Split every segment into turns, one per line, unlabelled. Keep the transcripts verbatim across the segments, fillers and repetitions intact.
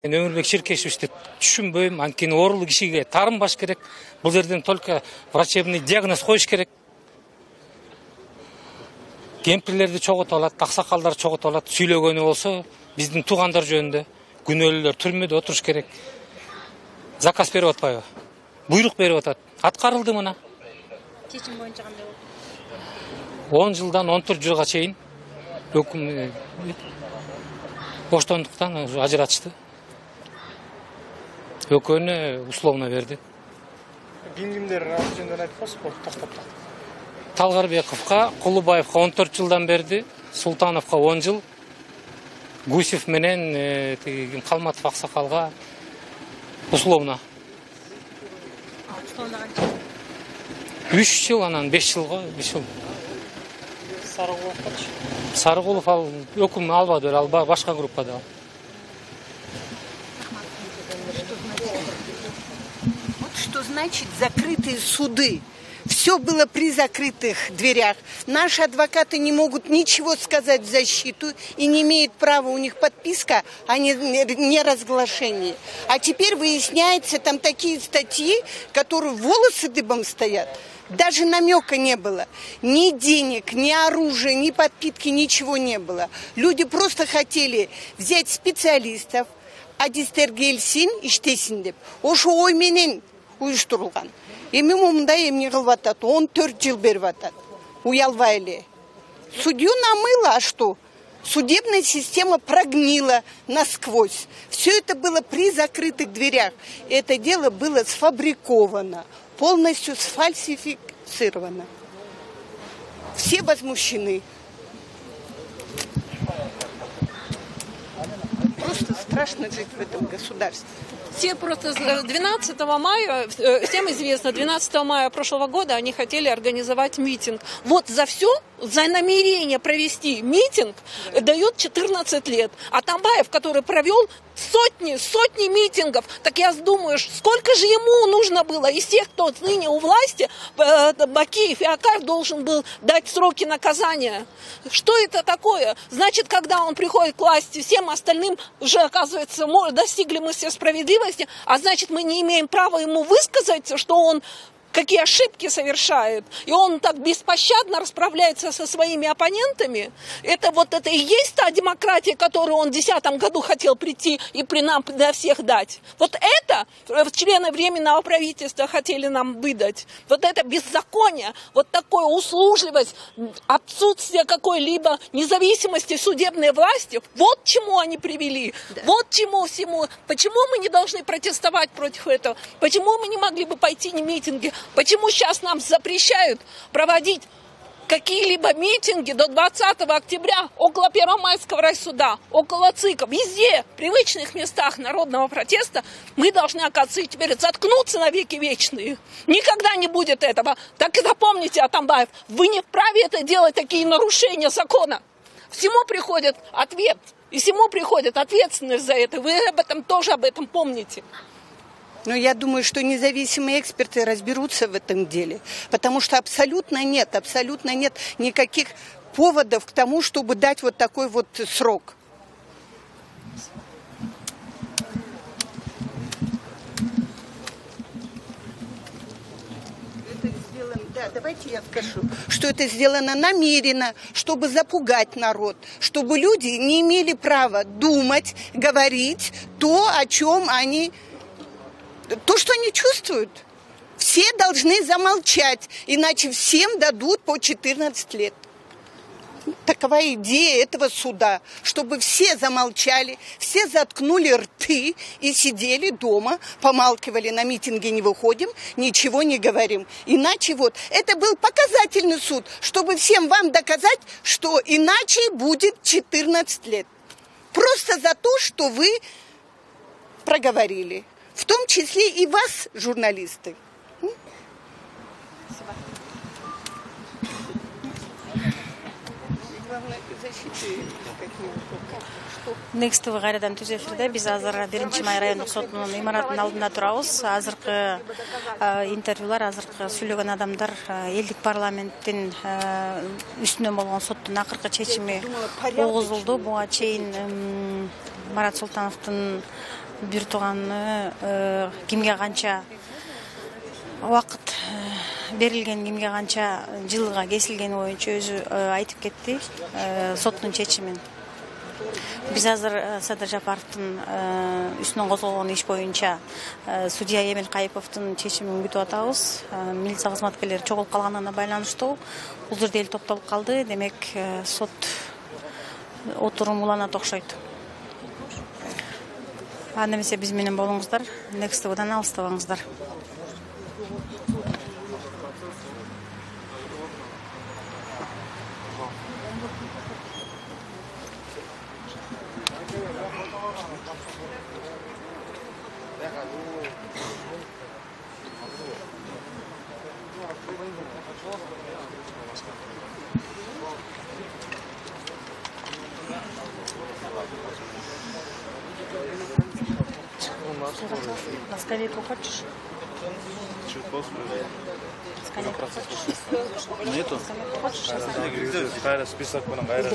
Мен Өмүрбек Ширкешевичти түшүнбөйм. Анткени оорулуу кишиге тарынбаш керек. Бул жерден только врачебный диагноз коюш керек. Кемпирлерди чогултуп алат, аксакалдар чогултуп алат. Сүйлөгөнү болсо биздин туугандар жөнүндө күнөөлүүлөр түрмөдө отуруш керек. Заказ берип атпайбы? Буйрук берип атат. Аткарылды мына.
Чечим боюнча кандай
болду? он жылдан он төрт жылга чейин өкүм боштондуктан ажыратышты. Экөөнү условно берди.
Ким кимдер ал жөнүндө айтпасызбы? Тактап.
Талгарбековго, Кулубаевго он төрт жылдан берди, Султановго он жыл, Гусев менен тиги Калматов аксакалга условно.
Условно канча?
үч жыл, анан беш жылга, беш жыл.
Сарыгуловчу?
Сарыгулов ал өкүм албады, ал башка группада ал.
Вот что значит закрытые суды. Все было при закрытых дверях. Наши адвокаты не могут ничего сказать в защиту и не имеют права, у них подписка, а не, не разглашение. А теперь выясняется, там такие статьи, которые волосы дыбом стоят. Даже намека не было. Ни денег, ни оружия, ни подпитки, ничего не было. Люди просто хотели взять специалистов, адистергелсин, иштесин деп. Ошо ой менен уюштурулган. Эми мындай эмне кылып атат? он төрт жыл берип атат. Уялбай эле. Судью намыло, а что? Судебная система прогнила насквозь. Все это было при закрытых дверях. Это дело было сфабриковано, полностью сфальсифицировано. Все возмущены. Просто страшно жить в этом государстве.
Все просто двенадцатого мая, всем известно, двенадцатого мая прошлого года они хотели организовать митинг. Вот за все, за намерение провести митинг дают четырнадцать лет. А Атамбаев, который провел сотни, сотни митингов, так я думаю, сколько же ему нужно было из тех, кто ныне у власти, Бакиев и Акаев должен был дать сроки наказания. Что это такое? Значит, когда он приходит к власти, всем остальным уже, оказывается, достигли мы все справедливости, а значит, мы не имеем права ему высказать, что он какие ошибки совершает, и он так беспощадно расправляется со своими оппонентами. Это вот это и есть та демократия, которую он в две тысячи десятом году хотел прийти и при нам для всех дать. Вот это члены Временного правительства хотели нам выдать. Вот это беззаконие, вот такая услужливость, отсутствие какой-либо независимости судебной власти, вот к чему они привели. Да. Вот чему всему. Почему мы не должны протестовать против этого? Почему мы не могли бы пойти на митинги? Почему сейчас нам запрещают проводить какие-либо митинги до двадцатого октября около Первомайского райсуда, около ЦИКа, везде, в привычных местах народного протеста, мы должны, оказывается, теперь заткнуться на веки вечные. Никогда не будет этого. Так и запомните, Атамбаев, вы не вправе это делать, такие нарушения закона. Всему приходит ответ, и всему приходит ответственность за это. Вы об этом тоже об этом помните.
Но я думаю, что независимые эксперты разберутся в этом деле, потому что абсолютно нет, абсолютно нет никаких поводов к тому, чтобы дать вот такой вот срок. Это сделано, да, давайте я скажу, что это сделано намеренно, чтобы запугать народ, чтобы люди не имели права думать, говорить то, о чем они... То, что они чувствуют, все должны замолчать, иначе всем дадут по четырнадцать лет. Такова идея этого суда, чтобы все замолчали, все заткнули рты и сидели дома, помалкивали, на митинги не выходим, ничего не говорим. Иначе вот, это был показательный суд, чтобы всем вам доказать, что иначе будет четырнадцать лет. Просто за то, что вы проговорили. В том числе и вас, журналисты.
Next to кайрадан түз эфирде биз азыр биринчи май райондук сотунун имаратынын алдында турабыз. Азыркы интервьюлар, азыркы сүйлөгөн адамдар элдик парламенттин үстүнөн болгон соттун акыркы чечими угузулду. Буга чейин Марат Султановдун бир тууганны кимге канча убакыт берилген, кимге канча жылга кесилгени боюнча өзү айтып кетти соттун чечимин. Биз азыр Садыр Жапаровдун үстүнөн козголгон иш боюнча судья Эмил Кайыповдун чечимин күтүп атабыз. Милиция кызматкерлери чогулуп калганына байланыштуу бул жерде эл токтолуп калды. Демек, сот отурум уланат окшойт. Анда эмесе биз менен болуңуздар. Next T V'дан алыстабаңыздар. На скамейку хочешь? Скамейку хочешь?
Нету.
Хочешь?
Список менен кайра.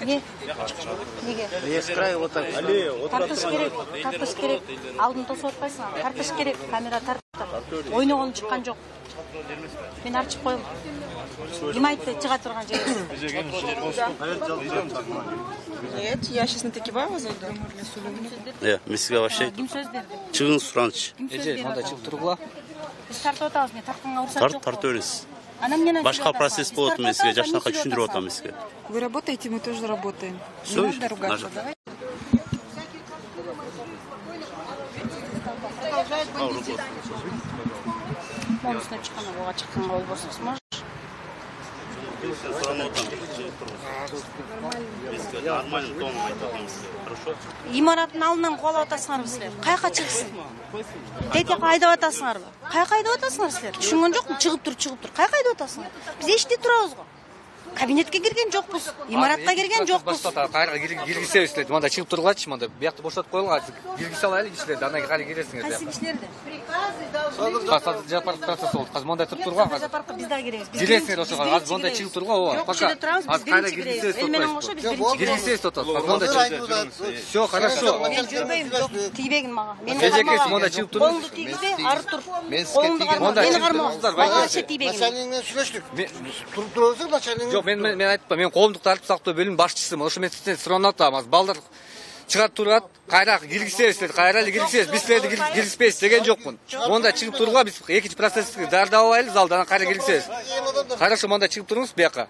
Не? Неге?
Есть край вот так.
Тартыш керек, тартыш керек. Алдын тосуп атпайсың. Тартыш керек, камера тартып. Ойногон чыккан жок. Мен арчып коем. Ким айтты чыга турган жер?
Нет, я сейчас на Такибаева зайду.
Э, мен сизге вообще
Ким сөз берди?
чыгыңыз суранычы.
Эже, монда чыгып тургула.
Биз тартып атабыз, мен тартканга уруксат
Тарт
жок.
тартып бериңиз.
Анан менен
Башка процесс болот мен сизге жашнакай түшүндүрүп атам сизге.
Вы работаете, мы тоже работаем.
Всё,
Не надо ругаться,
нажал.
давай.
Монусуна чыккан, ага чыкканга болбосо сможешь?
Нормально тон айтам сизге. Хорошо?
Имараттын алдынан кубалап атасыңарбы силер? Каяка чыксын? Тетияка айдап атасыңарбы? Каяка айдап атасыңар силер? Түшүнгөн жокмун? Чыгып тур, чыгып тур. Каяка айдап атасыңар? Биз эшитип турабыз го. Кабинетке кирген жокпуз. Имаратка кирген жокпуз.
Кайра киргизебиз силерди. Монда чыгып тургулачы, монда биякты бошотуп койгула. Киргизе алайлы кишилерди, андан кийин кайра киресиңер.
Кайсы кишилерди?
Садыр Жапаров процесс болду. Азыр монда туруп тургула.
Садыр Жапаровго биз дагы киребиз.
Киресиңер ошого. Азыр монда чыгып тургула, ооба.
Жок, ушул жерде турабыз, биз биринчи киребиз. Эл менен кошо биз биринчи киребиз.
Киргизебиз тотот. Монда чыгып. Всё, хорошо.
Мен жүрбөйм, жок, тийбегин мага. Мен
Эжекеси монда чыгып туруп.
Колуңду тийгизбе, ары тур. Колуңду карма,
Монда
мени
чыгып
карма.
туруңуздар,
Мага
байке.
ше тийбегин.
Начальник сүйлөштүк. Туруп турабыз, начальник.
Жок, мен мен айтпам. Мен коомдук тартип сактоо бөлүмүнүн башчысымын. Ошо мен сизден суранып атам. Азыр балдар чыгарып турат, кайра киргизебиз, кайра эле киргизебиз. Биз силерди киргизбейбиз деген жокмун. Монда чыгып туруга биз экинчи процессти даярдап алайлы, залдан анан кайра киргизебиз. Хорошо, монда чыгып туруңуз бияка.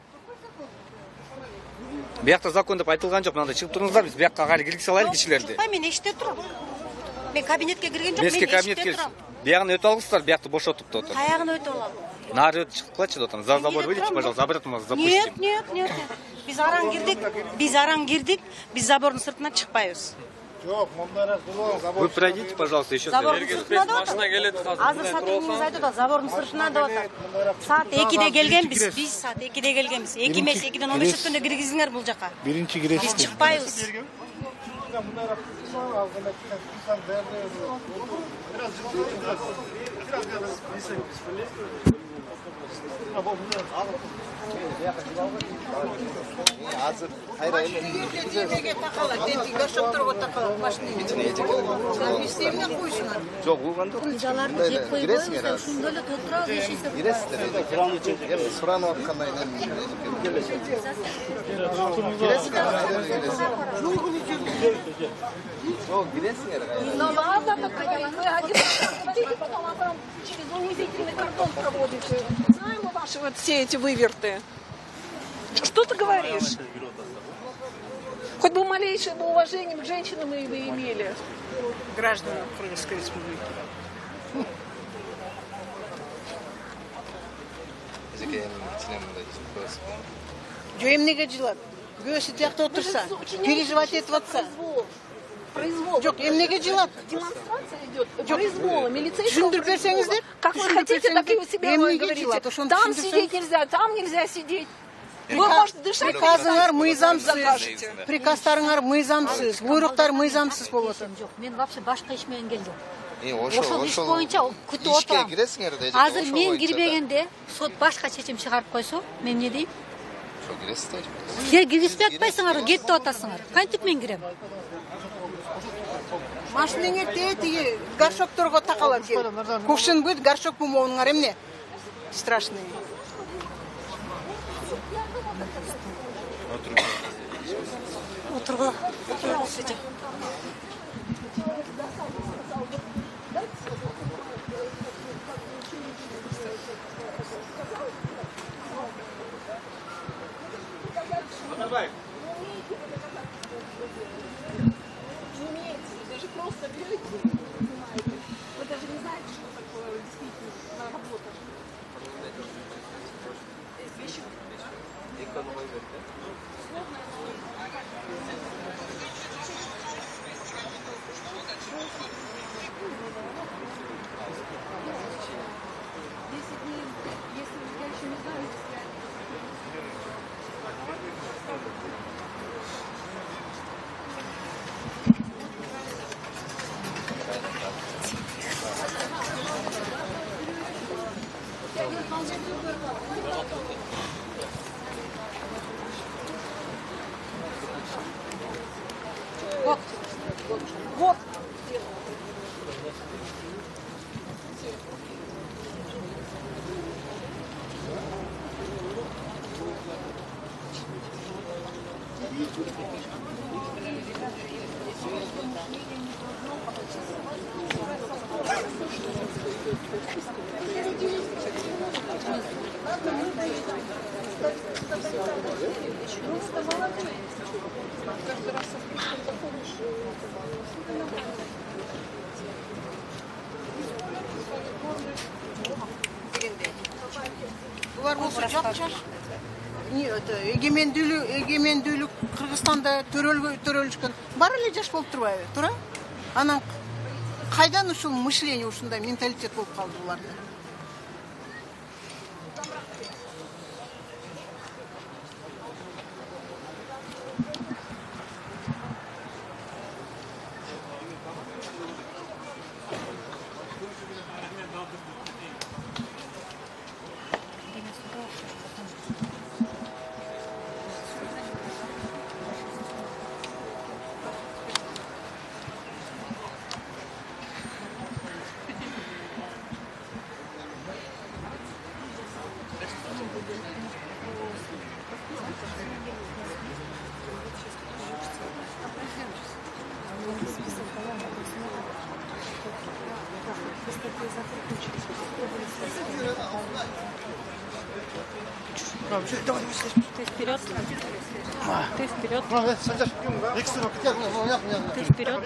Биякта закон деп айтылган жок. Монда чыгып туруңуздар, биз бияка кайра киргизе алайлы кишилерди.
Чыкпай, мен эшикте турам. Мен кабинетке кирген жок,
Мен
мен
сизге кабинетке
эшикте турам.
биягын өтүп алыңыздар, биякты бошотуп деп атам.
Каягын өтүп алам.
Нары өтүп чыккылачы деп атам. За забор выйдите, пожалуйста, обратно вас запустим.
Нет, нет, нет. Биз араң кирдик, биз араң кирдик, биз забордун сыртына чыкпайбыз.
Жок, монда турган забор.
Вы пройдите, пожалуйста, еще.
Забордун сыртына деп атат. Азыр сотруднигиңиз айтып атат, забордун сыртына деп атат. Саат экиде келгенбиз, биз саат экиде келгенбиз. эки эмес, экиден он беш өткөндө киргизиңер бул жака.
Биринчи киресиз.
Биз чыкпайбыз.
Азыр кайра эле. Жок, улганда
Жаларды жеп коюп
киресиңер.
ошондо эле отурабыз, эшесиз.
Киресиздер. Эми суранып аткандай киресиңер. Жок, киресиңер.
Ну ладно, так вы один раз потом а там через унизительный картон проводите. Знаем мы ваши вот все эти выверты. Что ты говоришь? Хоть бы малейшее бы уважение к женщинам вы бы имели.
Граждане Крымской республики.
Жо эмнеге жылат? Күйөөсү тиякта отурса, переживать этип атса.
Произвол.
Жок, эмнеге жылат?
Демонстрация идет. Произвола, милицейского.
Түшүндүрүп берсеңиздер.
Как вы хотите, так и у себя
Эмнеге
говорите.
жылат? Ошону
Там
түшүндүрсөң.
сидеть нельзя, там нельзя сидеть. Вы можете дышать.
Приказыңар
закажете.
мыйзамсыз. Приказдарыңар мыйзамсыз, буйруктар мыйзамсыз болуп атат.
Жок, мен вообще башка иш менен келдим.
Ошол
Ошол иш боюнча күтүп отурам.
киресиңер деди.
Азыр мен кирбегенде сот башка чечим чыгарып койсо, мен эмне дейм?
Ошо киресиздер.
Силер киргизбей атпайсыңар, кет деп атасыңар. Кантип мен кирем?
Машинеңе тетиги горшокторго такалап кел. Кувшин будет, горшок бумауңар эмне? Страшный.
Отырго.
Вот. Вот. Булар болсо жапчаш. Не это эгемендүүлүк, эгемендүүлүк Кыргызстанда төрөлгө төрөлүшкөн. Бар эле жаш болуп турбайбы, туура? Анан кайдан ушул мышление, ушундай менталитет болуп калды буларда? Ты вперед. Ты вперед. Ты вперед.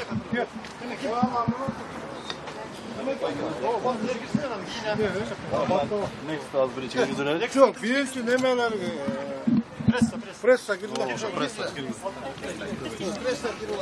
Çok, birisi nemeler pressa pressa girdi. Pressa girdi. Pressa girdi.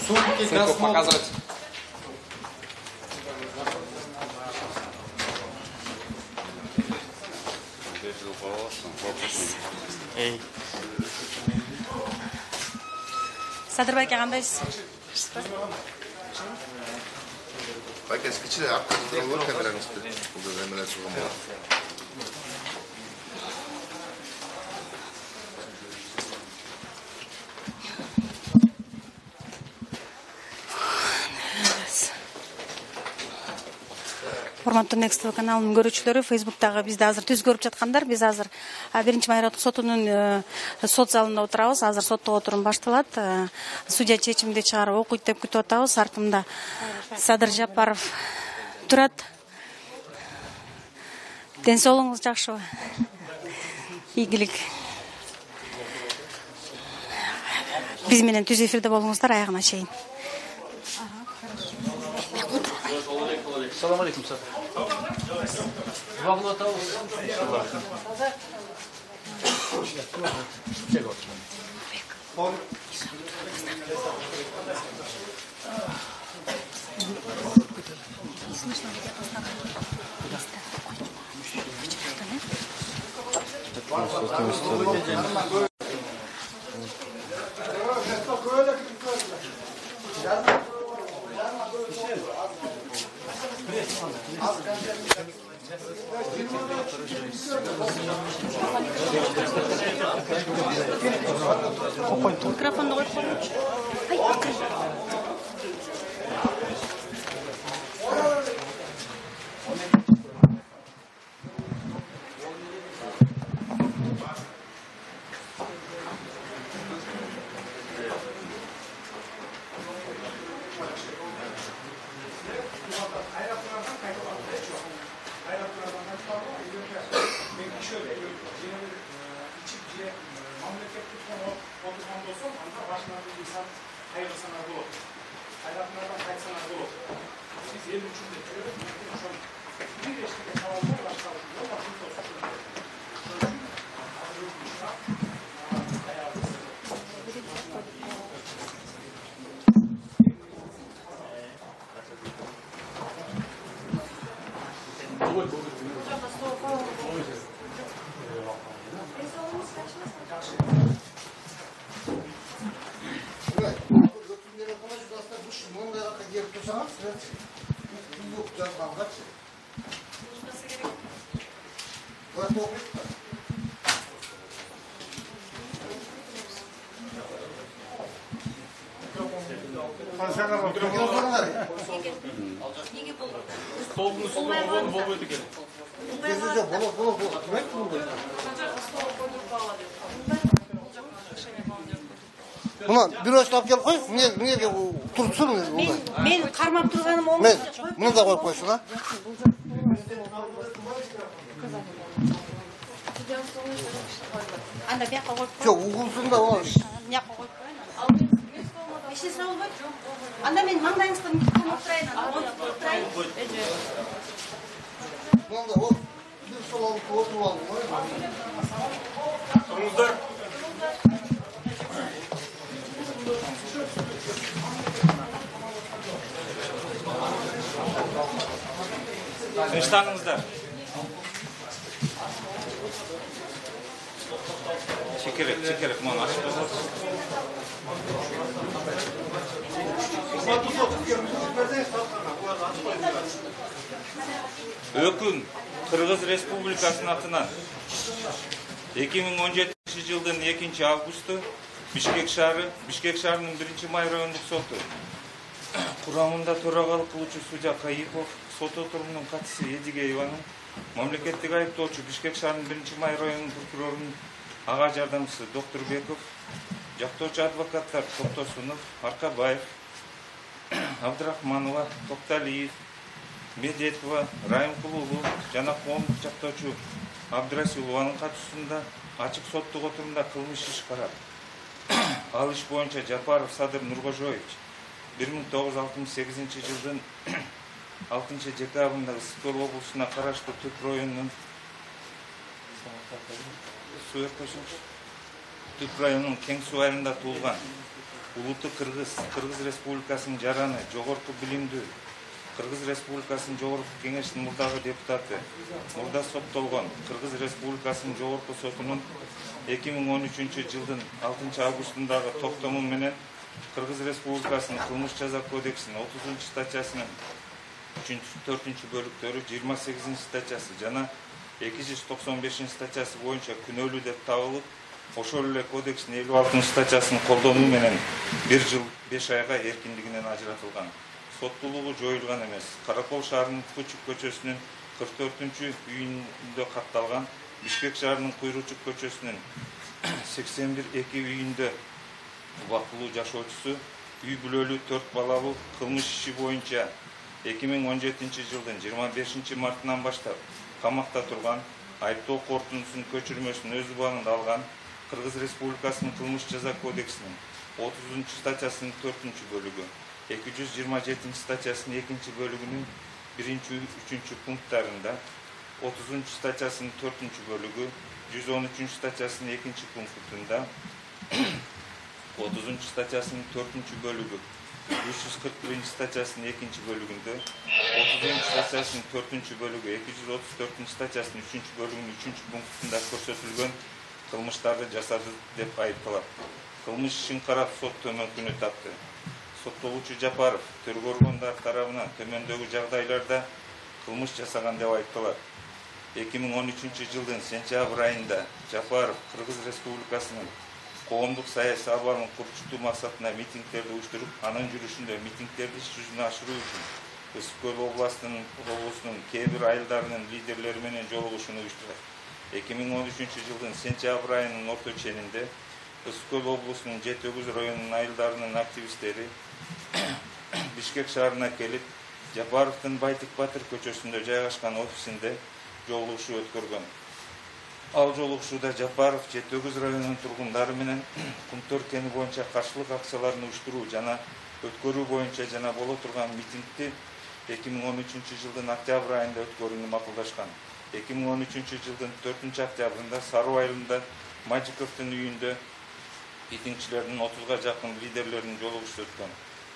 Сумку показывать. Эй.
Садырбайке кандайсыз?
Байке скичиле аркасында камераңызды. Бул да эмелер чыгым бар.
Урматтуу Next каналынын көрүүчүлөрү, Facebook'тагы бизди азыр түз көрүп жаткандар, биз азыр биринчи майраттык сотунун сот залында отурабыз. Азыр соттук отурум башталат. Судья чечимди чыгарып окуйт деп күтүп атабыз. Артымда Садыр Жапаров турат. Ден соолугуңуз жакшыбы? Ийгилик. Биз менен түз эфирде болуңуздар аягына чейин.
Салам алейкум, сэр. Два минута.
Микрофонду коюп коюңчу.
Мына бюросын алып келип кой, эмне эмнеге турупсун мында.
Мен мен кармап турганым ол.
Мен мында коюп койсун, а?
Анда бияка коюп.
Жок, угулсун да ол.
Бияка коюп коюйн. Эч нерсе болбойт. Анда мен маңдайыңыздан микрофон турайын, анда коюп турайын.
Мында ол бир стол алып отуруп алдым.
Турыңуздар.
Тынчтаныңыздар. Чекерек, чекерек, мана ашып койсоңуз. Өкүм Кыргыз Республикасынын атынан эки миң он жетинчи жылдын экинчи августу Бишкек шаары, Бишкек шаарынын биринчи май райондук соту курамында төрагалык кылуучу судья Кайипов, сот отурумунун катчысы Эдигееванын, мамлекеттик айыптоочу Бишкек шаарынын биринчи май районунун прокурорунун ага жардамчысы Доктурбеков, жактоочу адвокаттар Токтосунов, Аркабаев, Абдрахманова, Токталиев, Медетова, Райымкулулу жана коомдук жактоочу Абдрасилованын катышуусунда ачык соттук отурумда кылмыш иш карап, ал иш боюнча Жапаров Садыр Нуркожоевич бир миң тогуз жүз алтымыш сегизинчи жылдын алтынчы декабрында Ысык облусуна караштуу Түп районунун Түп районунун Кең суу айылында туулган. Улуттук Кыргыз, Кыргыз Республикасынын жараны, жогорку билимдүү, Кыргыз Республикасынын Жогорку Кеңешинин мурдагы депутаты, мурда соттолгон Кыргыз Республикасынын Жогорку сотунун эки миң он үчүнчү жылдын алтынчы августундагы токтому менен Кыргыз Республикасынын кылмыш жаза кодексинин отузунчу статьясынын үчүнчү төртүнчү бөлүктөрү жыйырма сегизинчи статьясы жана эки жүз токсон бешинчи статьясы боюнча күнөөлүү деп табылып, ошол эле кодекстин элүү алтынчы статьясын колдонуу менен бир жыл беш айга эркиндигинен ажыратылган. Соттуулугу жоюлган эмес. Каракол шаарынын Кучук көчөсүнүн кырк төртүнчү үйүндө катталган, Бишкек шаарынын Куйручук көчөсүнүн сексен бир эки үйүндө убактылуу жашоочусу, үй бүлөлүү төрт балалуу кылмыш иши боюнча эки миң он жетинчи жылдын жыйырма бешинчи мартынан баштап камакта турган, айыптоо корутундусунун көчүрмөсүн өз убагында алган, Кыргыз Республикасынын кылмыш жаза кодексинин отузунчу статьясынын төртүнчү бөлүгү, эки жүз жыйырма жетинчи статьясынын экинчи бөлүгүнүн биринчи үчүнчү пункттарында, отузунчу статьясынын төртүнчү бөлүгү, жүз он үчүнчү статьясынын экинчи пунктунда
отузунчу статьясынын төртүнчү бөлүгү үч жүз кырк биринчи статьясынын экинчи бөлүгүндө, отузунчу статьясынын төртүнчү бөлүгү эки жүз отуз төртүнчү статьясынын үчүнчү бөлүгүнүн үчүнчү пунктунда көрсөтүлгөн кылмыштарды жасады деп айыпталат. Кылмыш ишин карап сот төмөнкүнү тапты. Соттолуучу Жапаров төрөгө органдар тарабынан төмөндөгү жагдайларда кылмыш жасаган деп айыпталат. эки миң он үчүнчү жылдын сентябрь айында Жапаров Кыргыз Республикасынын коомдук саясий абалын курчутуу максатында митингдерди уюштуруп, анын жүрүшүндө митингдерди иш жүзүнө ашыруу үчүн Ысык Көл областынын облусунун кээ бир айылдарынын лидерлери менен жолугушууну уюштурат. эки миң он үчүнчү жылдын сентябрь айынын орто ченинде Ысык Көл облусунун жети өгүз районунун айылдарынын активисттери Бишкек шаарына келип, Жапаровдун Байтик Батыр көчөсүндө жайгашкан офисинде жолугушуу өткөргөн. Ал жолугушууда Жапаров жети өгүз районунун тургундары менен Кумтөр кени боюнча каршылык акцияларын уюштуруу жана өткөрүү боюнча жана боло турган митингди эки миң он үчүнчү жылдын октябрь айында өткөрүүнү макулдашкан. эки миң он үчүнчү жылдын төртүнчү октябрында Саруу айылында Мажиковдун үйүндө митингчилердин отузга жакын лидерлеринин жолугушуусу өткөн.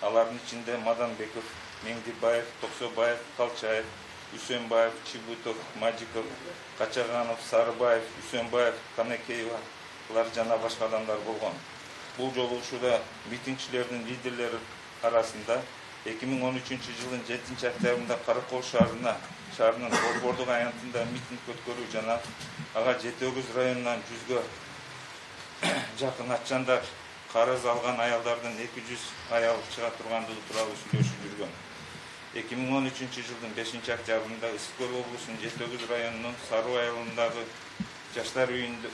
Алардын ичинде Маданбеков, Меңдибаев, Токсобаев, Калчаев, Үсөнбаев, Чибутов, Мажиков, Качаганов, Сарыбаев, Үсөнбаев, Канекеевалар жана башка адамдар болгон. Бул жолугушууда митингчилердин лидерлери арасында эки миң он үчүнчү жылдын жетинчи октябрында Каракол шаарына шаарынын борбордук аянтында митинг өткөрүү жана ага жети өгүз районунан жүзгө жакын атчандар карыз алган аялдардын эки жүз аял чыга тургандыгы тууралуу сүйлөшүп жүргөн. эки миң он үчүнчү жылдын бешинчи октябрында Ысык Көл облусунун жети өгүз районунун Саруу айылындагы жаштар үйүндө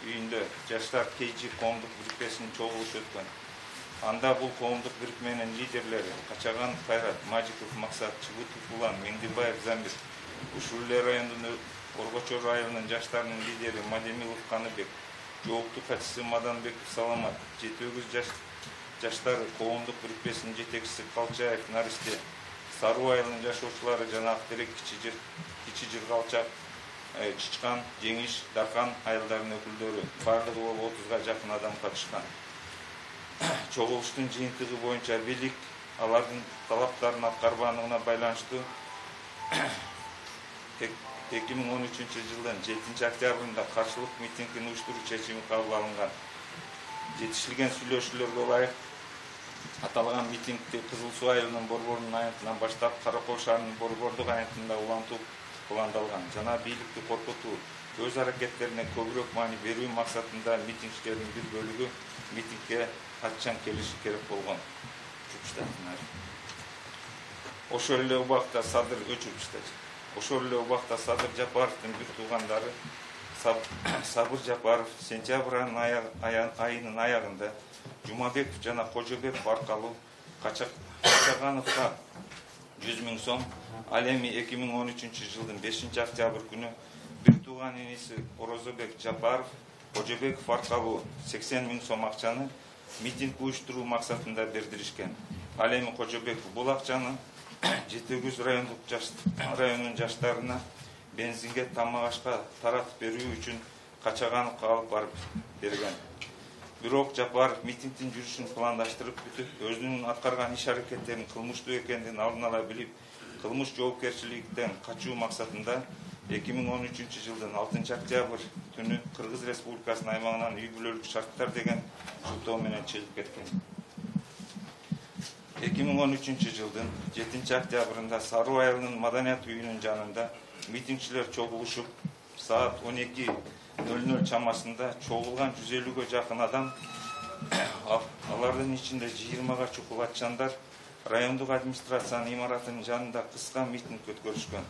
үйүндө жаштар Кейжи коомдук бирикмесинин чогулушу өткөн. Анда бул коомдук бирикменин лидерлери Качаганов Кайрат, Мажиков Максат, Чыбытов Улан, Меңдибаев Замир, Ушулле районунун Оргочор айылынын жаштарынын лидери Мадемилов Каныбек, жооптуу катчысы Маданбеков Саламат, жети өгүз жаш жаштары коомдук бирикмесинин жетекчиси Калчаев Наристе, Саруу айылынын жашоочулары жана Актерек Кичи Кичи Жыргалчак, Чичкан, Жеңиш, Даркан айылдарынын өкүлдөрү, бардыгы болуп отузга жакын адам катышкан. Чогулуштун жыйынтыгы боюнча бийлик алардын талаптарын аткарбаандыгына байланыштуу эки миң он үчүнчү жылдын жетинчи октябрында каршылык митингин уюштуруу чечими кабыл алынган. Жетишилген сүйлөшүүлөргө ылайык аталган митингди Кызыл Суу айылынын борборунун аянтынан баштап Каракол шаарынын борбордук аянтында улантуу пландалган жана бийликти коркутуу, өз аракеттерине көбүрөөк маани берүү максатында митингчилердин бир бөлүгү митингге атчан келиши керек болгон. Ошол эле убакта Садыр өчүрүштөр. Ошол эле убакта Садыр Жапаровдун бир туугандары Сабыр Жапаров сентябрь айынын аягында Жумабеков жана Кожобеков аркылуу Качагановго жүз миң сом, ал эми эки миң он үчүнчү жылдын бешинчи октябрь күнү бир тууган иниси Орозобек Жапаров Кожобеков аркылуу сексен миң сом акчаны митинг уюштуруу максатында бердиришкен. Ал эми Кожобеков бул акчаны жети өгүз райондук районунун жаштарына бензинге тамак ашка таратып берүү үчүн Качагановго алып барып берген. Бирок Жапаров митингдин жүрүшүн пландаштырып бүтүп, өзүнүн аткарган иш аракеттеринин кылмыштуу экендигин алдын ала билип, кылмыш жоопкерчиликтен качуу максатында эки миң он үчүнчү жылдын алтынчы октябрь түнү Кыргыз Республикасынын аймагынан үй бүлөлүк шарттар деген шуктоо менен чыгып кеткен. эки миң он үчүнчү жылдын жетинчи октябрында Саруу айылынын Маданият үйүнүн жанында митингчилер чогулушуп, саат он эки ноль ноль чамасында чогулган жүз элүүгө жакын адам, алардын ичинде жыйырмага чукул атчандар райондук администрациянын имаратынын жанында кыска митинг өткөрүшкөн.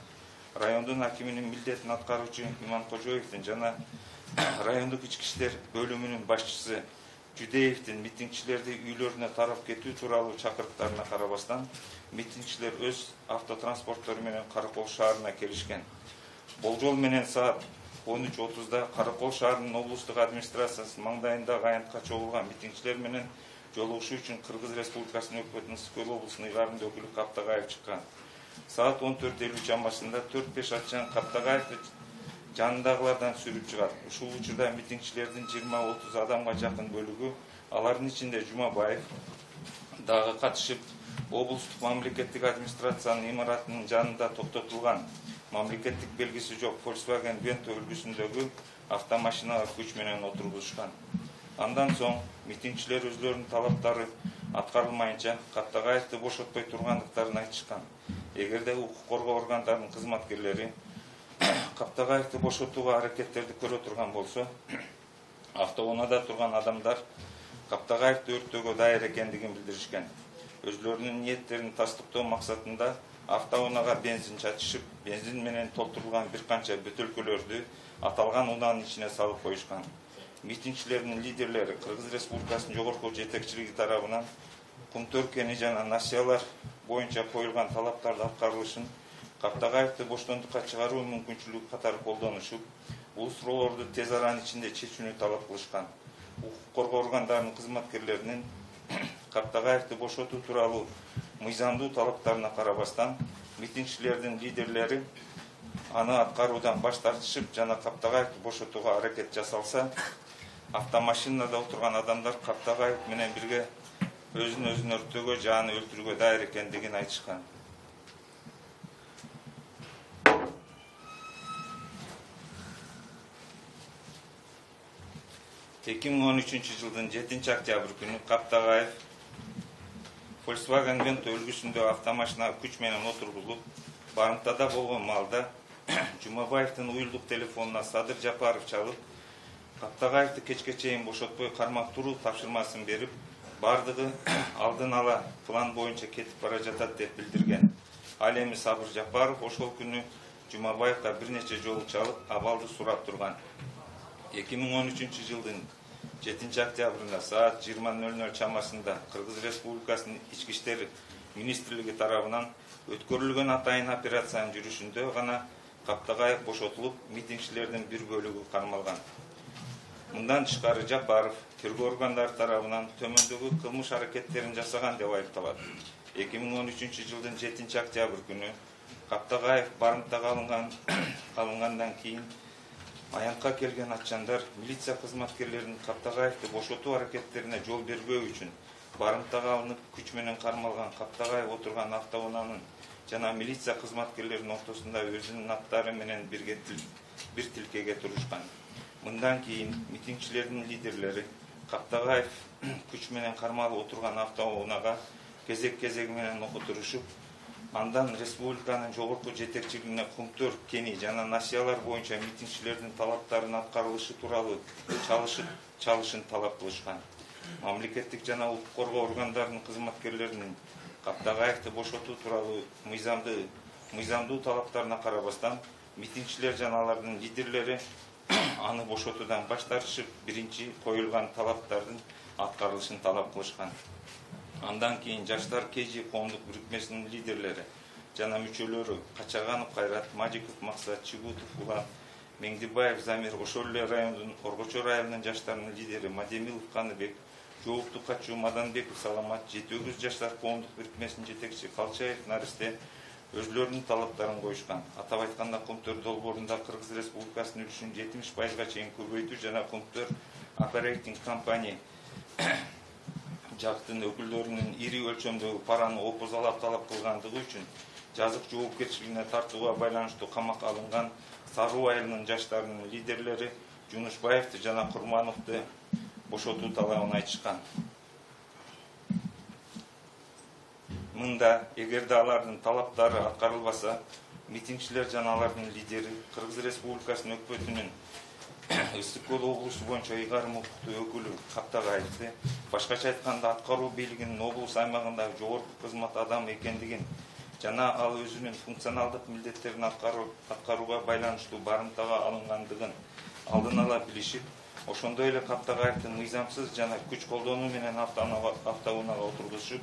Райондун акиминин милдетин аткаруучу Иманкожоевдин жана райондук ички иштер бөлүмүнүн башчысы Жудеевдин митингчилерди үйлөрүнө тарап кетүү тууралуу чакырыктарына карабастан, митингчилер өз автотранспорттору менен Каракол шаарына келишкен. Болжол менен саат он үч отузда Каракол шаарынын облустук администрациясынын маңдайындагы аянтка чогулган митингчилер менен жолугушуу үчүн Кыргыз Республикасынын өкмөтүнүн Ысык Көл облусунун ыйгарымдуу өкүлү Каптагаев чыккан. Саат он төрт элүү чамасында төрт беш атчан Каптагаевди жанындагылардан сүрүп чыгат. Ушул учурда митингчилердин жыйырма отуз адамга жакын бөлүгү Алардын ичинде Жумабаев дагы катышып, облустук мамлекеттик администрациянын имаратынын жанында токтотулган мамлекеттик белгиси жок Volkswagen Vento үлгүсүндөгү автомашинага күч менен отургузушкан. Андан соң митингчилер өзлөрүнүн талаптары аткарылмайынча Каптагаевди бошотпой тургандыктарын айтышкан. Эгерде укук коргоо органдарынын кызматкерлери Каптагаевди бошотууга аракеттерди көрө турган болсо, автоунаада турган адамдар Каптагаевди өрттөөгө даяр экендигин билдиришкен. Өзлөрүнүн ниеттерин тастыктоо максатында автоунага бензин чачышып, бензин менен толтурулган бир канча бөтөлкөлөрдү аталган унаанын ичине салып коюшкан. Митингчилердин лидерлери Кыргыз Республикасынын жогорку жетекчилиги тарабынан кумтөр кени жана насыялар боюнча коюлган талаптарды аткарылышын Каптагаевди боштондукка чыгаруу мүмкүнчүлүгү катары колдонушуп, бул суроолорду тез аранын ичинде чечүүнү талап кылышкан. Укук коргоо органдарынын кызматкерлеринин Каптагаевди бошотуу тууралуу мыйзамдуу талаптарына карабастан, митингчилердин лидерлери аны аткаруудан баш тартышып жана Каптагаевди бошотууга аракет жасалса, автомашинада отурган адамдар Каптагаев менен бирге өзүн өзүн өрттөөгө жааны өлтүрүүгө даяр экендигин айтышкан. эки миң он үчүнчү жылдын жетинчи октябрь күнү Каптагаев Volkswagen Vento үлгүсүндө автомашинага күч менен отургузулуп, барымтада болгон маалда Жумабаевдин уюлдук телефонуна Садыр Жапаров чалып, Каптагаевди кечке чейин бошотпой кармап туруу тапшырмасын берип, бардыгы алдын ала план боюнча кетип бара жатат деп билдирген. Ал эми Сабыр Жапаров ошол күнү Жумабаевга бир нече жолу чалып, абалды сурап турган. эки миң он үчүнчү жылдын жетинчи октябрында саат жыйырма ноль ноль чамасында Кыргыз Республикасынын Ички иштер министрлиги тарабынан өткөрүлгөн атайын операциянын жүрүшүндө гана Каптагаев бошотулуп, митингчилердин бир бөлүгү кармалган. Мындан тышкары Жапаров тергөө органдары тарабынан төмөндөгү кылмыш аракеттерин жасаган деп айыпталат. эки миң он үчүнчү жылдын жетинчи октябрь күнү Каптагаев барымтага алынган алынгандан кийин аянтка келген атчандар милиция кызматкерлеринин Каптагаевди бошотуу аракеттерине жол бербөө үчүн барымтага алынып күч менен кармалган Каптагаев отурган автоунаанын жана милиция кызматкерлеринин ортосунда өзүнүн аттары менен бирге бир тилкеге турушкан. Мындан кийин митингчилердин лидерлери Каптагаев күч менен кармалып отурган автоунаага кезек-кезеги менен отурушуп, андан республиканын жогорку жетекчилигине кумтөр кени жана насыялар боюнча митингчилердин талаптарынын аткарылышы тууралуу чалышып чалышын талап кылышкан. Мамлекеттик жана укук коргоо органдарынын кызматкерлеринин Каптагаевди бошотуу тууралуу мыйзамды мыйзамдуу талаптарына карабастан, митингчилер жана алардын лидерлери аны бошотуудан баш тартышып, биринчи коюлган талаптардын аткарылышын талап кылышкан. Андан кийин Жаштар КЖ коомдук бирикмесинин лидерлери жана мүчөлөрү Качаганов Кайрат, Мажиков Максат, Чигутов Улан, Меңдибаев Замир, ошол эле райондун Оргочор айылынын жаштарынын лидери Мадемилов Каныбек, Жоопту Качуу Маданбеков Саламат, Жети Өгүз Жаштар коомдук бирикмесинин жетекчиси Калчаев Наристе өзлөрүнүн талаптарын коюшкан. Атап айтканда, Кумтөр долбоорунда Кыргыз Республикасынын үлүшүн жетимиш пайызга чейин көбөйтүү жана Кумтөр Operating Company жактын өкүлдөрүнүн ири өлчөмдөгү параны опузалап талап кылгандыгы үчүн жазык жоопкерчилигине тартууга байланыштуу камакка алынган Саруу айылынын жаштарынын лидерлери Жунушбаевди жана Курмановду бошотуу талабын айтышкан. Мында эгерде алардын талаптары аткарылбаса, митингчилер жана алардын лидери Кыргыз Республикасынын өкмөтүнүн Ысык Көл облусу боюнча ыйгарым укуктуу өкүлү Каптагаевди, башкача айтканда аткаруу бийлигинин облус аймагындагы жогорку кызмат адамы экендигин жана ал өзүнүн функционалдык милдеттерин аткарууга байланыштуу барымтага алынгандыгын алдын ала билишип, ошондой эле Каптагаевдин мыйзамсыз жана күч колдонуу менен автоунаага отургузушуп,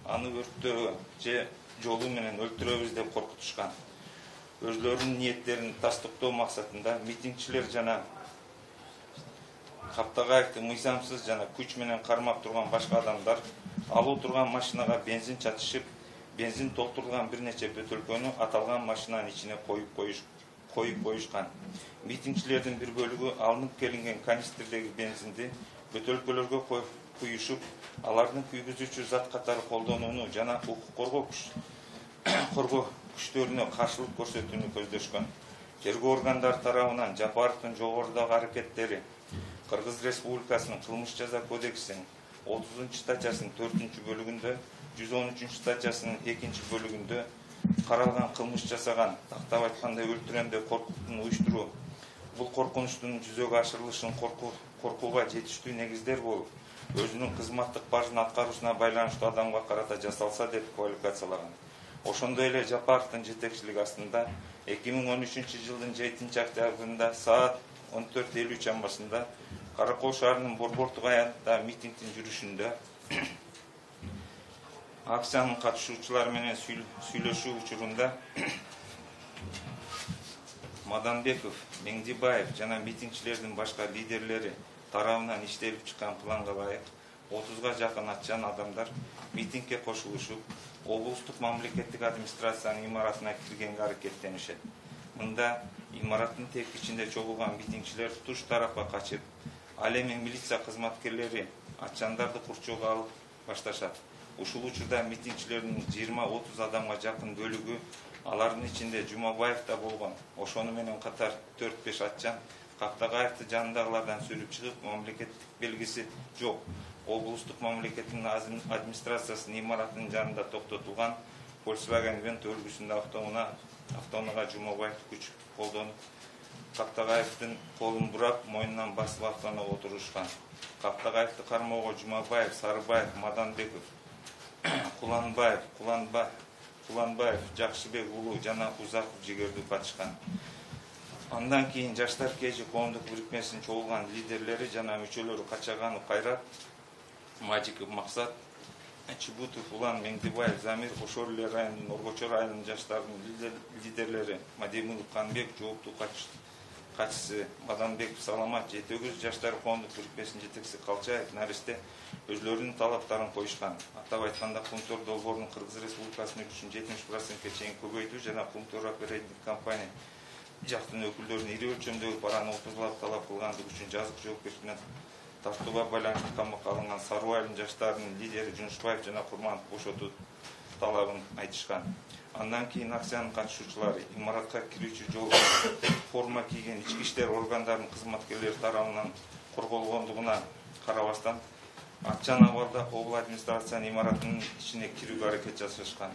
аны өрттөө же жолу менен өлтүрөбүз деп коркутушкан. Өзлөрүнүн ниеттерин тастыктоо максатында митингчилер жана Каптагаевди мыйзамсыз жана күч менен кармап турган башка адамдар алуу турган машинага бензин чачышып, бензин толтурулган бир нече бөтөлкөнү аталган машинанын ичине коюп коюш коюп коюшкан. Митингчилердин бир бөлүгү алынып келинген канистрдеги бензинди бөтөлкөлөргө коюп куюшуп, алардын күйгүзүүчү зат катары колдонууну жана укук коргоо коргоо күчтөрүнө каршылык көрсөтүүнү көздөшкөн. Тергөө органдары тарабынан Жапаровдун жогорудагы аракеттери Кыргыз Республикасынын кылмыш жаза кодексинин отузунчу статьясынын төртүнчү бөлүгүндө, жүз он үчүнчү статьясынын экинчи бөлүгүндө каралган кылмыш жасаган, тактап айтканда өлтүрөм деп коркуттун уюштуруу, бул коркунучтун жүзөгө ашырылышын коркууга жетиштүү негиздер болуп, өзүнүн кызматтык бажын аткаруусуна байланыштуу адамга карата жасалса деп квалификациялаган. Ошондой эле Жапаровдун жетекчилиги астында эки миң он үчүнчү жылдын жетинчи октябрында саат он төрт элүү чамасында Каракол шаарынын Борбортук аянтта митингдин жүрүшүндө акциянын катышуучулары менен сүйлөшүү учурунда Маданбеков, Меңдибаев жана митингчилердин башка лидерлери тарабынан иштелип чыккан планга ылайык отузга жакын атчан адамдар митингге кошулушуп, облустук мамлекеттик администрациянын имаратына киргенге аракеттенишет. Мында имараттын тепкичинде чогулган митингчилер туш тарапка качып, ал эми милиция кызматкерлери атчандарды курчоого алып башташат. Ушул учурда митингчилердин жыйырма отуз адамга жакын бөлүгү, алардын ичинде Жумабаев да болгон, ошону менен катар төрт беш атчан Кактагаевди жанындагылардан сүрүп чыгып, мамлекеттик белгиси жок облустук мамлекеттин администрациясынын имаратынын жанында токтотулган Volkswagen Vento үлгүсүндө автоунаага Жумабаевди күч колдонуп, Кактагаевдин колун бурап, мойнунан басып автоунаага отурушкан. Кактагаевди кармоого Жумабаев, Сарыбаев, Маданбеков, Куланбаев, Куланбаев, Жакшыбек уулу жана Узаков жигердүү катышкан. Андан кийин Жаштар КЖ коомдук бирикмесинин чогулган лидерлери жана мүчөлөрү Качаганов Кайрат, Мажиков Максат, Чебутов Улан, Меңдибаев Замир, ошол эле райондун Оргочор районунун жаштарынын лидерлери Мадемилов Канбек, жооптуу катчысы Маданбеков Саламат, жетегиз Жаштар коомдук бирикмесинин жетекчиси Калчаев Наристе өзлөрүнүн талаптарын коюшкан. Атап айтканда, Кумтор долбоорунун Кыргыз Республикасынын үчүн жетимиш процентке чейин көбөйтүү жана Кумтор оперативдик компания жактын өкүлдөрүнүн ири өлчөмдөгү параны отузлап талап кылгандыгы үчүн жазык жоопкерчиликке тартууга байланыштуу камакка алынган Саруу айылынын жаштарынын лидери Жунушбаев жана Курманов бошотуу талабын айтышкан. Андан кийин акциянын катышуучулары имаратка кирүүчү жолдо форма кийген ички иштер органдарынын кызматкерлери тарабынан корголгондугуна карабастан, атчан абалда обл администрациянын имаратынын ичине кирүүгө аракет жасашкан.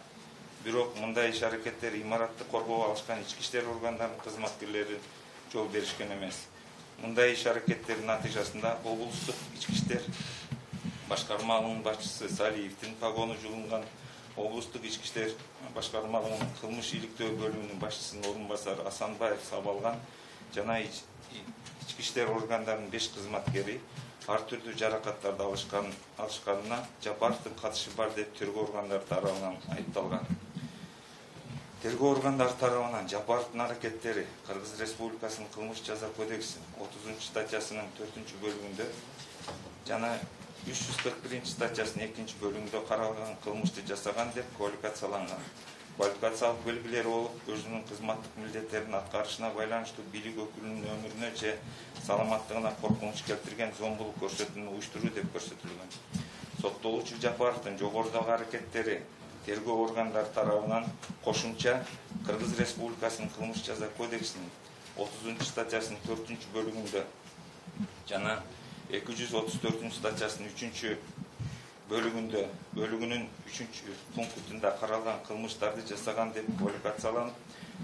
Бирок мындай иш аракеттер имаратты коргоого алышкан ички иштер органдарынын кызматкерлери жол беришкен эмес. Мындай иш аракеттердин натыйжасында облустук ички иштер башкармалыгынын башчысы Салиевдин погону жулунган, облустук ички иштер башкармалыгынын кылмыш иликтөө бөлүмүнүн башчысынын орун басары Асанбаев Сабалган жана ички иштер органдарынын беш кызматкери ар түрдүү жаракаттарды алышкан алышканына Жапаровдун катышы бар деп тергөө органдары тарабынан айыпталган. Тергөө органдары тарабынан Жапаровдун аракеттери Кыргыз Республикасынын кылмыш жаза кодексинин отузунчу статьясынын төртүнчү бөлүгүндө жана үч жүз кырк биринчи статьясынын экинчи бөлүгүндө каралган кылмышты жасаган деп квалификацияланган. Квалификациялык белгилери болуп, өзүнүн кызматтык милдеттерин аткарышына байланыштуу бийлик өкүлүнүн өмүрүнө же саламаттыгына коркунуч келтирген зомбулук көрсөтүүнү уюштуруу деп көрсөтүлгөн. Соттолуучу Жапаровдун жогорудагы аракеттери тергөө органдары тарабынан кошумча Кыргыз Республикасынын кылмыш жаза кодексинин отузунчу статьясынын төртүнчү бөлүгүндө жана эки жүз отуз төртүнчү статьясынын үчүнчү бөлүгүндө бөлүгүнүн үчүнчү пунктунда каралган кылмыштарды жасаган деп квалификацияланып,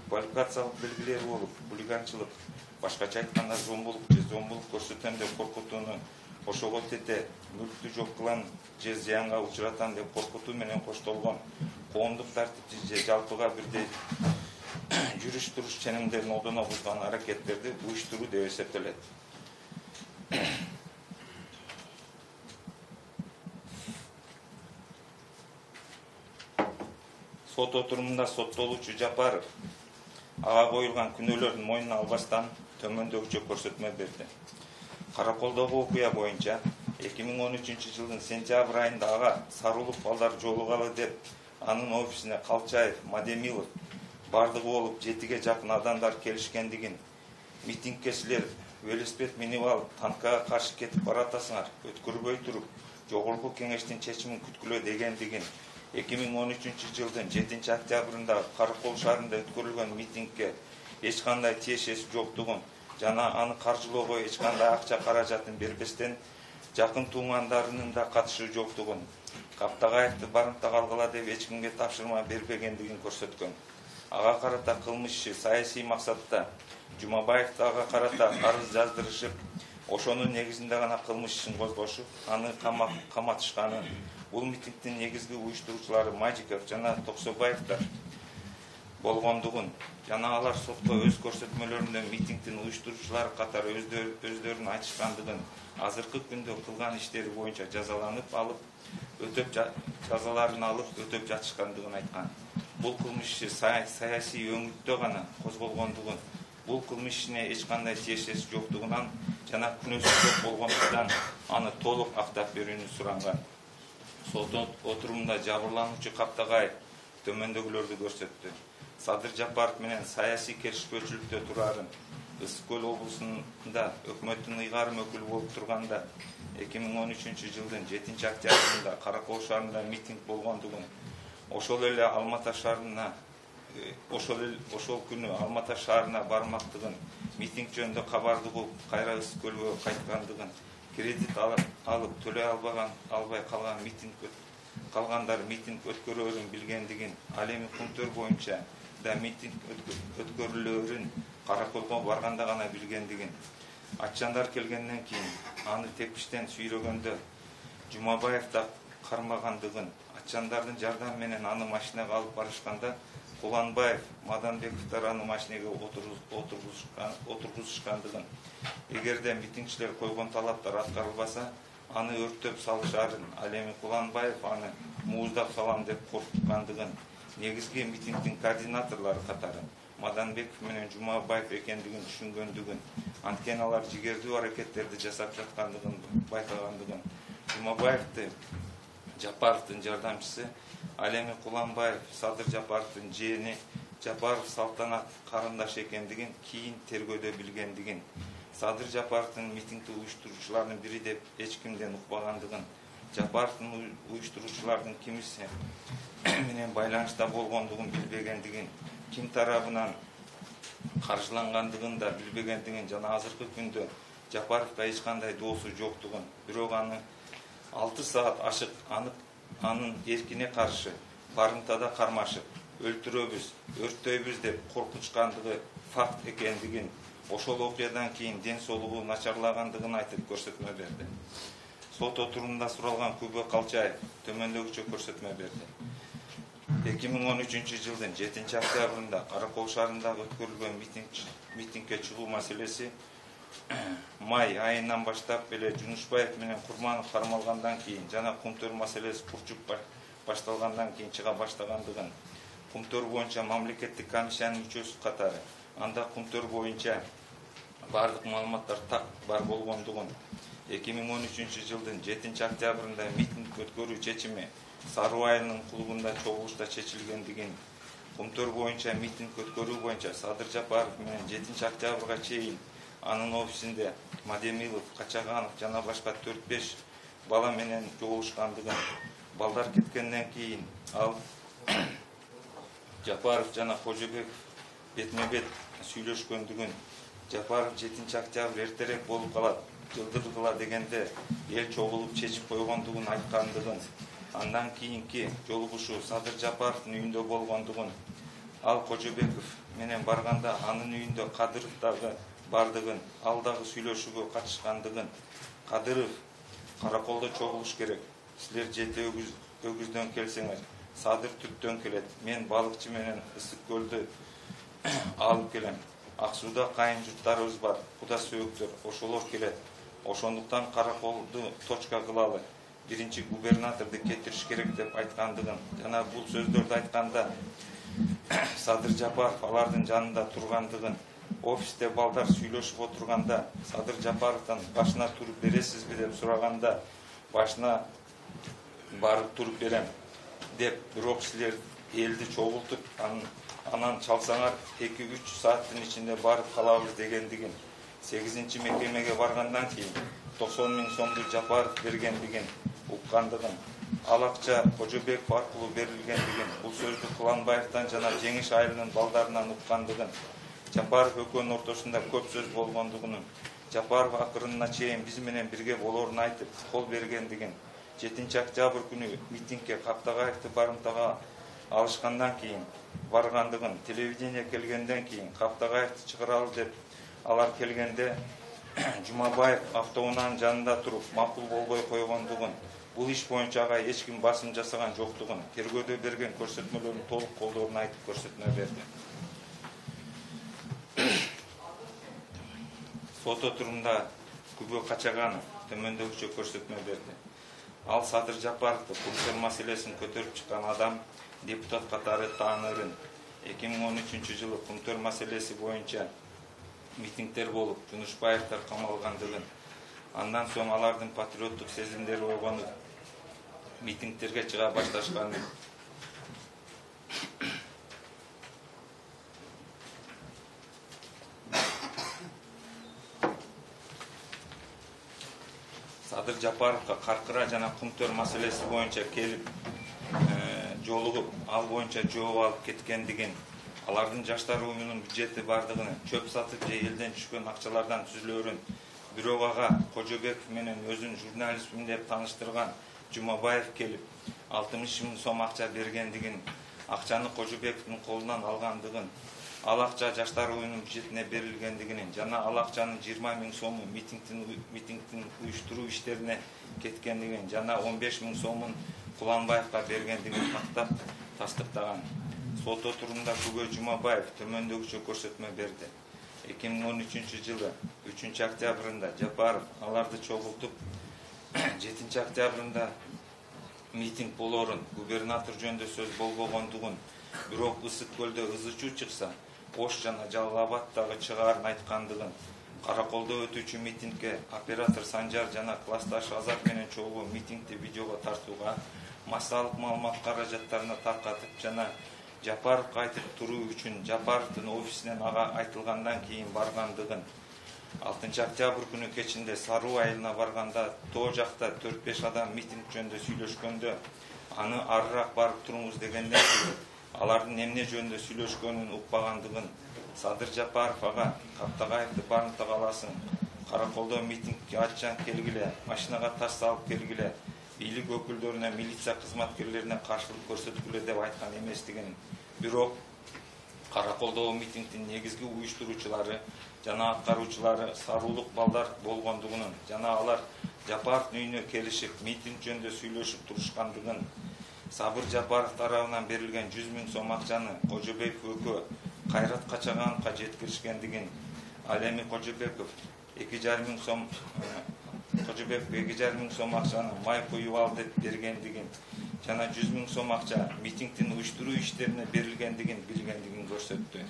квалификациялык белгилери болуп, хулиганчылык, башкача айтканда зомбулук же зомбулук көрсөтөм деп коркутууну, ошого тете мүлктү жок кылам же зыянга учуратам деп коркутуу менен коштолгон коомдук тартипти же жалпыга бирдей жүрүш туруш ченемдерин одоно бузган аракеттерди уюштуруу деп эсептелет. Сот отурумунда соттолуучу Жапаров ага коюлган күнөөлөрдүн мойнуна албастан төмөндөгүчө көрсөтмө берди. Караколдогу окуя боюнча эки миң он үчүнчү жылдын сентябрь айында ага Сарылык балдар жолугалы деп анын офисине Калчаев, Мадемилов бардыгы болуп жетиге жакын адамдар келишкендигин, митингке силер велосипед минип алып танкага каршы кетип баратасыңар, өткөрбөй туруп жогорку кеңештин чечимин күткүлө дегендигин, эки миң он үчүнчү жылдын жетинчи октябрында Каракол шаарында өткөрүлгөн митингге эч кандай тиешеси жоктугун жана аны каржылоого эч кандай акча каражатын бербестен жакын туугандарынын да катышы жоктугун, Каптагаевди барымтага алгыла деп эч кимге тапшырма бербегендигин көрсөткөн. Ага карата кылмыш иши саясий максатта Жумабаев ага карата арыз жаздырышып, ошонун негизинде гана кылмыш ишин козгошуп, аны каматышканын, бул митингдин негизги уюштуруучулары Мажиков жана Токсобаевдер болгондугун жана алар сотко өз көрсөтмөлөрүндө митингдин уюштуруучулары катары өздөрүнүн айтышкандыгын, азыркы күндө кылган иштери боюнча жазаланып алып, өтөп жазаларын алып өтөп жатышкандыгын айткан. Бул кылмыш иши саясий өңүттө гана козголгондугун, бул кылмыш ишине эч кандай тиешеси жоктугунан жана күнөөсү жок болгондуктан аны толук актап берүүнү суранган. Сот отурумунда жабырлануучу Каптагаев төмөндөгүлөрдү көрсөттү. Садыр Жапаров менен саясий келишпөөчүлүктө турарын, Ысык көл облусунда өкмөттүн ыйгарым өкүлү болуп турганда эки миң он үчүнчү жылдын жетинчи октябрында Каракол шаарында митинг болгондугун, ошол эле Алмата шаарына ошол ошол күнү Алмата шаарына бармактыгын, митинг жөнүндө кабарды угуп, кайра Ысык көлгө кайткандыгын, кредит алып төлөй албаган албай калган митинг калгандар митинг өткөрөөрүн билгендигин, ал эми Кумтөр боюнча да митинг өткөрүлөөрүн Караколго барганда гана билгендигин, аччандар келгенден кийин аны тепкичтен сүйрөгөндө Жумабаев да кармагандыгын, аччандардын жардамы менен аны машинага алып барышканда Куланбаев, Маданбековдор аны машинеге отургузушкандыгын, эгерде митингчилер койгон талаптар аткарылбаса, аны өрттөп салышарын, ал эми Куланбаев аны мууздап салам деп коркуткандыгын, негизги митингдин координаторлору катары Маданбеков менен Жумабаев экендигин түшүнгөндүгүн, анткени алар жигердүү аракеттерди жасап жаткандыгын байкагандыгын, Жумабаевди Жапаровдун жардамчысы, ал эми Куланбаев Садыр Жапаровдун жээни Жапаров Салтанат карындаш экендигин кийин тергөөдө билгендигин, Садыр Жапаровдун митингди уюштуруучуларынын бири деп эч кимден укпагандыгын, Жапаровдун уюштуруучулардын кимиси менен байланышта болгондугун билбегендигин, ким тарабынан каржылангандыгын да билбегендигин жана азыркы күндө Жапаровго эч кандай доосу жоктугун, бирок аны алты саат ашык анын эркине каршы барымтада кармашып, өлтүрөбүз, өрттөйбүз деп коркутушкандыгы факт экендигин, ошол окуядан кийин ден соолугу начарлагандыгын айтып көрсөтмө берди. Сот отурумунда суралган Күбө Калчаев төмөндөгүчө көрсөтмө берди. эки миң он үчүнчү жылдын жетинчи октябрында Каракол шаарындагы өткөрүлгөн митингге чыгуу маселеси май айынан баштап эле Жунушбаев менен Курманов кармалгандан кийин жана Кумтөр маселеси курчуп башталгандан кийин чыга баштагандыгын, Кумтөр боюнча мамлекеттик комиссиянын мүчөсү катары анда Кумтөр боюнча бардык маалыматтар так бар болгондугун, эки миң он үчүнчү жылдын жетинчи октябрында митинг өткөрүү чечими Саруу айылынын клубунда чогулушта чечилгендигин, Кумтөр боюнча митинг өткөрүү боюнча Садыр Жапаров менен жетинчи октябрга чейин анын офисинде Мадемилов, Качаганов жана башка төрт беш бала менен жолугушкандыгын, балдар кеткенден кийин ал Жапаров жана Кожобеков бетме-бет сүйлөшкөндүгүн, Жапаров жетинчи октябрь эртерээк болуп калат, жылдыргыла дегенде эл чогулуп чечип койгондугун айткандыгын, андан кийинки жолугушуу Садыр Жапаровдун үйүндө болгондугун, ал Кожобеков менен барганда анын үйүндө Кадыров дагы бардыгын, ал дагы сүйлөшүүгө катышкандыгын, Кадыров Караколдо чогулуш керек, силер жети өгүздөн келсеңер, Садыр түптөн келет, мен балыкчы менен Ысык көлдү алып келем, Ак сууда кайын журттарыбыз бар, куда сөөктөр, ошолор келет, ошондуктан Караколду точка кылалы, биринчи губернаторду кетириш керек деп айткандыгын жана бул сөздөрдү айтканда Садыр Жапаров алардын жанында тургандыгын, офисте балдар сүйлөшүп отурганда Садыр Жапаровдон башына туруп бересизби деп сураганда башына барып туруп берем деп, бирок силер элди чогултуп анан чалсаңар эки үч сааттын ичинде барып калабыз дегендигин, сегизинчи мекемеге баргандан кийин токсон миң сомду Жапаров бергендигин, уккандыгын, ал акча Кожобеков аркылуу берилгендигин, бул сөздү Куланбаевден жана Жеңиш айылынын балдарынан уккандыгын, Жапаров экөөнүн ортосунда көп сөз болгондугун, Жапаров акырына чейин биз менен бирге болоорун айтып, кол бергендигин, жетинчи октябрь күнү митингге Каптагаевди барымтага алышкандан кийин баргандыгын, телевидение келгенден кийин Каптагаевди чыгаралы деп алар келгенде Жумабаев автоунаанын жанында туруп макул болбой койгондугун, бул иш боюнча ага эч ким басым жасаган жоктугун, тергөөдө берген көрсөтмөлөрүн толук колдоорун айтып көрсөтмө берди. Сот отурумда Күбө Качаганов төмөндөгүчө көрсөтмө берди. Ал Садыр Жапаровду Кумтөр маселесин көтөрүп чыккан адам депутат катары таанырын. эки миң он үчүнчү жылы Кумтөр маселеси боюнча митингдер болуп, Жунушбаевдер камалгандыгын, андан соң алардын патриоттук сезимдери ойгонуп, митингдерге чыга башташканын, Садыр Жапаровго Каркыра жана Кумтөр маселеси боюнча келип жолугуп, ал боюнча жооп алып кеткендигин, алардын жаштар уюмунун бюджети бардыгын, чөп сатып же элден түшкөн акчалардан түзүлөөрүн, бирок ага Кожобеков менен өзүн журналистмин деп тааныштырган Жумабаев келип, алтымыш миң сом акча бергендигин, акчаны Кожобековдун колунан алгандыгын, ал акча жаштар уюмунун бюджетине берилгендигин жана ал акчанын жыйырма миң сому митингдин митингдин уюштуруу иштерине кеткендигин жана он беш миң сомун Куланбаевга бергендигин тактап тастыктаган. Сот отурумда Күбө Жумабаев төмөндөгүчө көрсөтмө берди. эки миң он үчүнчү жылы үчүнчү октябрында Жапаров аларды чогултуп, жетинчи октябрында митинг болоорун, губернатор жөнүндө сөз болбогондугун, бирок Ысык көлдө ызычуу чыкса, Ош жана Жалал Абаддагы чыгаарын айткандыгын, Караколдо өтүүчү митингге оператор Санжар жана классташ Азат менен чогуу митингди видеого тартууга, массалык маалымат каражаттарына таркатып жана Жапаровго айтып туруу үчүн Жапаровдун офисинен ага айтылгандан кийин баргандыгын, алтынчы октябрь күнү кечинде Саруу айылына барганда тоо жакта төрт беш адам митинг жөнүндө сүйлөшкөндө, аны арыраак барып туруңуз дегенден кийин алардын эмне жөнүндө сүйлөшкөнүн укпагандыгын, Садыр Жапаров ага Каптагаевди барымтага аласың, Караколдо митингге аччан келгиле, машинага таш салып келгиле, бийлик өкүлдөрүнө, милиция кызматкерлерине каршылык көрсөткүлө деп айткан эместигин, бирок Караколдогу митингдин негизги уюштуруучулары жана аткаруучулары саруулук балдар болгондугунун жана алар Жапаровдун үйүнө келишип митинг жөнүндө сүйлөшүп турушкандыгын, Сабыр Жапаров тарабынан берилген жүз миң сом акчаны Кожобеков экөө Кайрат Качагановго жеткиришкендигин, ал эми Кожобеков эки жарым миң сом Кожобеков эки жарым миң сом акчаны май куюп ал деп бергендигин жана жүз миң сом акча митингдин уюштуруу иштерине берилгендигин билгендигин көрсөттү.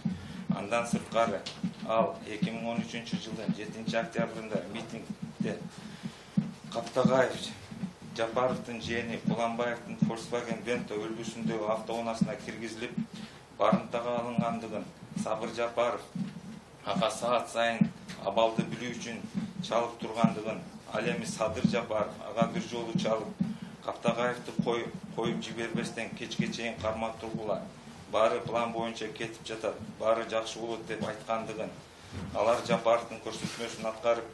Андан сырткары ал эки миң он үчүнчү жылдын жетинчи октябрында митингде Каптагаев Жапаровдун жээни Куланбаевдин Volkswagen Vento үлгүсүндөгү автоунаасына киргизилип, барымтага алынгандыгын, Сабыр Жапаров ага саат сайын абалды билүү үчүн чалып тургандыгын, ал эми Садыр Жапаров ага бир жолу чалып, Каптагаевди коюп жибербестен кечке чейин кармап тургула, баары план боюнча кетип жатат, баары жакшы болот деп айткандыгын, алар Жапаровдун көрсөтмөсүн аткарып,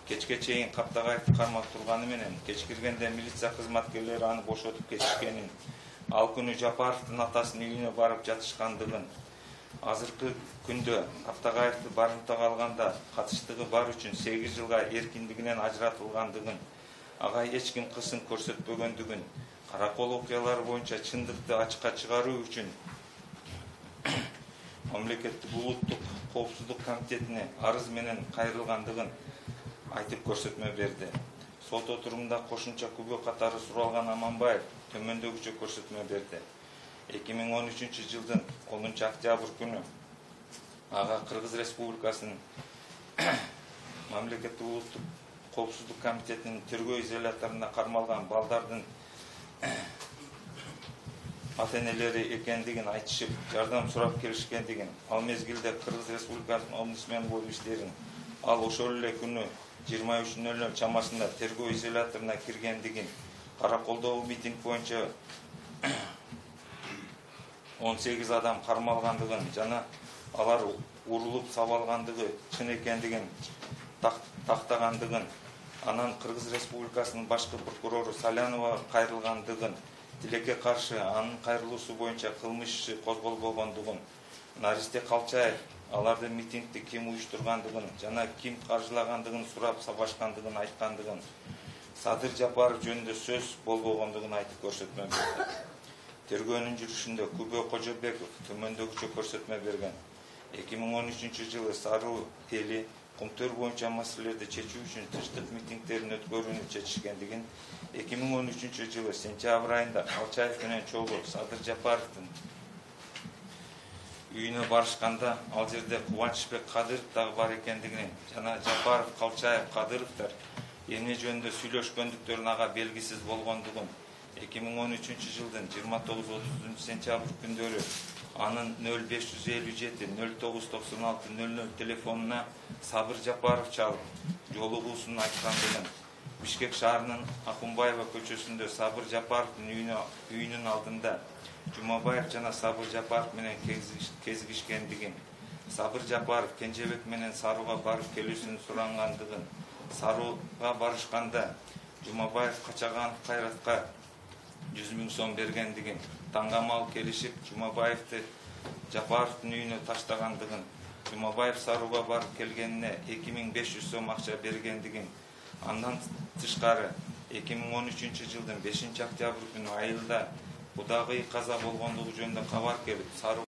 кечке чейин Каптагаевди кармап турганы менен кечкиргенде милиция кызматкерлери аны бошотуп кетишкенин, ал күнү Жапаровдун атасынын үйүнө барып жатышкандыгын, азыркы күндө Каптагаевди барымтага алганда катыштыгы бар үчүн сегиз жылга эркиндигинен ажыратылгандыгын, ага эч ким кысым көрсөтпөгөндүгүн, Каракол окуялары боюнча чындыкты ачыкка чыгаруу үчүн мамлекеттик улуттук коопсуздук комитетине арыз менен кайрылгандыгын айтып көрсөтмө берди. Сот отурумунда кошумча күбө катары суралган Аманбаев төмөндөгүчө көрсөтмө берди. эки миң он үчүнчү жылдын онунчу октябрь күнү ага Кыргыз Республикасынын мамлекеттик улуттук коопсуздук комитетинин тергөө изоляторуна кармалган балдардын ата-энелери экендигин айтышып, жардам сурап келишкендигин, ал мезгилде Кыргыз Республикасынын омбудсмени болуп иштерин, ал ошол эле күнү жыйырма үч нөл нөл чамасында тергөө изоляторуна киргендигин, Караколдогу митинг боюнча он сегиз адам кармалгандыгын жана алар урулуп сабалгандыгы чын экендигин тактагандыгын, анан Кыргыз Республикасынын башкы прокурору Салянова кайрылгандыгын, тилекке каршы анын кайрылуусу боюнча кылмыш иши козголбогондугун, Наристе Калчаев алардын митингди ким уюштургандыгын жана ким каржылагандыгын сурап сабашкандыгын айткандыгын, Садыр Жапаров жөнүндө сөз болбогондугун айтып көрсөтмө берди. Тергөөнүн жүрүшүндө Күбө Кожобеков төмөндөгүчө көрсөтмө берген. эки миң он үчүнчү жылы Саруу эли Кумтөр боюнча маселелерди чечүү үчүн тыштык митингдерин өткөрүүнү чечишкендигин, эки миң он үчүнчү жылы сентябрь айында Калчаев менен чогуу Садыр Жапаровдун үйүнө барышканда ал жерде Кубанычбек Кадыров дагы бар экендигин жана Жапаров, Калчаев, Кадыровдор эмне жөнүндө сүйлөшкөндүктөрүн ага белгисиз болгондугун, эки миң он үчүнчү жылдын жыйырма тогуз отузунчу сентябрь күндөрү анын нөл беш жүз элүү жети нөл тогуз токсон алты нөл нөл телефонуна Сабыр Жапаров чалып, жолугуусун айткандыгын, Бишкек шаарынын Акунбаева көчөсүндө Сабыр Жапаровдун үйүнүн алдында Жумабаев жана Сабыр Жапаров менен кезигишкендигин, Сабыр Жапаров Кенжебек менен Сарууга барып келүүсүн сурангандыгын, Сарууга барышканда Жумабаев Качаган Кайратка жүз миң сом бергендигин, таңгамал келишип Жумабаевди Жапаровдун үйүнө таштагандыгын, Жумабаев Сарууга барып келгенине эки миң беш жүз сом акча бергендигин, андан тышкары эки миң он үчүнчү жылдын бешинчи октябрь күнү айылда кудагый каза болгондугу жөнүндө кабар келип, Саруу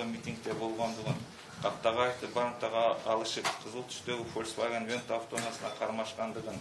митингде болгондугун, Каптагаевди барымтага алышып, кызыл түстөгү Volkswagen Vento автоунаасына кармашкандыгын,